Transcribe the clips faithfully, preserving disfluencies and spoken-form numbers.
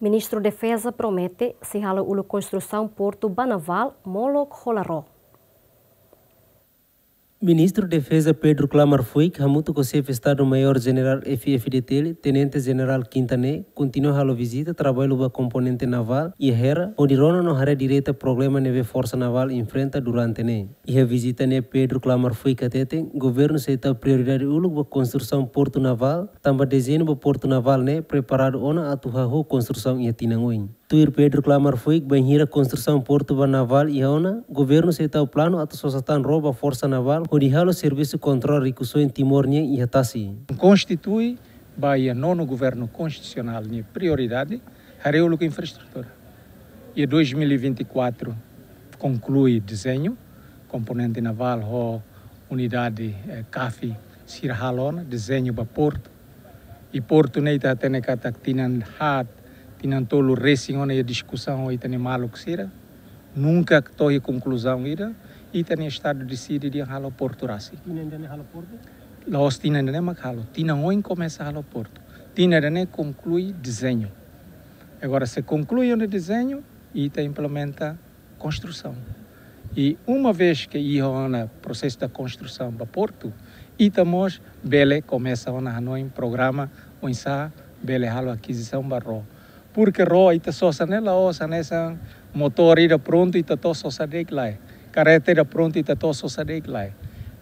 Ministru Defeza promete sei halo uluk konstrusaun portu ba navál molok hola ró. Ministru Defeza Pedro Klamar Fuik hamutuk ho Xefe Estadu Maiór Jenerál F-FDTL, Tenente Jenerál Quinta ne'e kontinua halo vizita traballu ba komponente navál iha Hera, hodi rona no haree direta problema ne'ebé Forsa Navál enfrenta durante ne'e. Iha vizita ne'e Pedro Klamar Fuik hateten, governu sei tau prioridade uluk ba konstrusaun portu navál, tanba dezeñu ba portu navál ne'e preparadu ona atu hahú konstrusaun iha tinan oin. Tuir Pedro Klamar Fuik, bainhira konstrusaun portu ba navál iha ona, governu sei tau planu atu sosa tan ró ba Forsa Navál hodi halo servisu kontrola rikusoin Timor nian iha tasi. Konstitui ba iha nonu governu konstitusionál nia prioridade haree uluk infraestrutura. Iha dois mil e vinte e quatro konklui dezeñu, komponente navál ho unidade, eh, CAF sira halo ona dezeñu ba portu. I portu ne'e ita hatene katak tinan haat, tinan tolu resin ona iha diskusaun ho ita-nia maluk sira. Nunka to'o iha konkluzaun ida, ita-nia Estadu deside dehan halo portu rasik. Tinan ida-ne'e halo portu? La'ós tinan ida-ne'e mak halo, tinan oin komesa halo portu. Tinan ida-ne'e konklui dezeñu. Agora, se konklui ona dezeñu, ita implementa konstrusaun. I uma vez ke iha ona prosesu da konstrusaun ba portu, ita mós bele komesa ona hanoin programa oinsá bele halo akizisaun ba ró. Porque ró ita sosa ne'e la'ós hanesan motór ida prontu ita to'o sosa de'it lae. Karreta ida prontu ita to'o sosa de'it lae.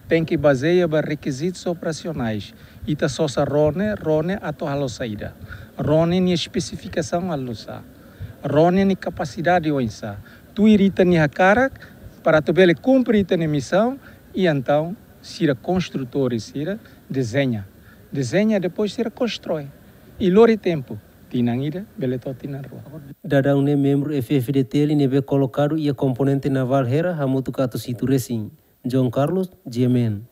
Tenke bazeia ba rekizitus operasionais. Ita sosa ró ne'e, ró ne'e atu halo saida. Ró ne'e nia espesifikasaun oinsá. Ró ne'e nia kapasidade oinsá. Tuir ita-nia hakarak, para atu bele kumpre ita-nia misaun, i entaun sira konstrutór sira dezeña. Dezeña, depois sira konstroi. I lori tempu, tinan ida, bele to'o tinan rua. Daudaun ne'e membru F-FDTL ne'ebé kolokadu iha komponente navál Hera hamutuk atus hitu resin. João Carlos, G M N.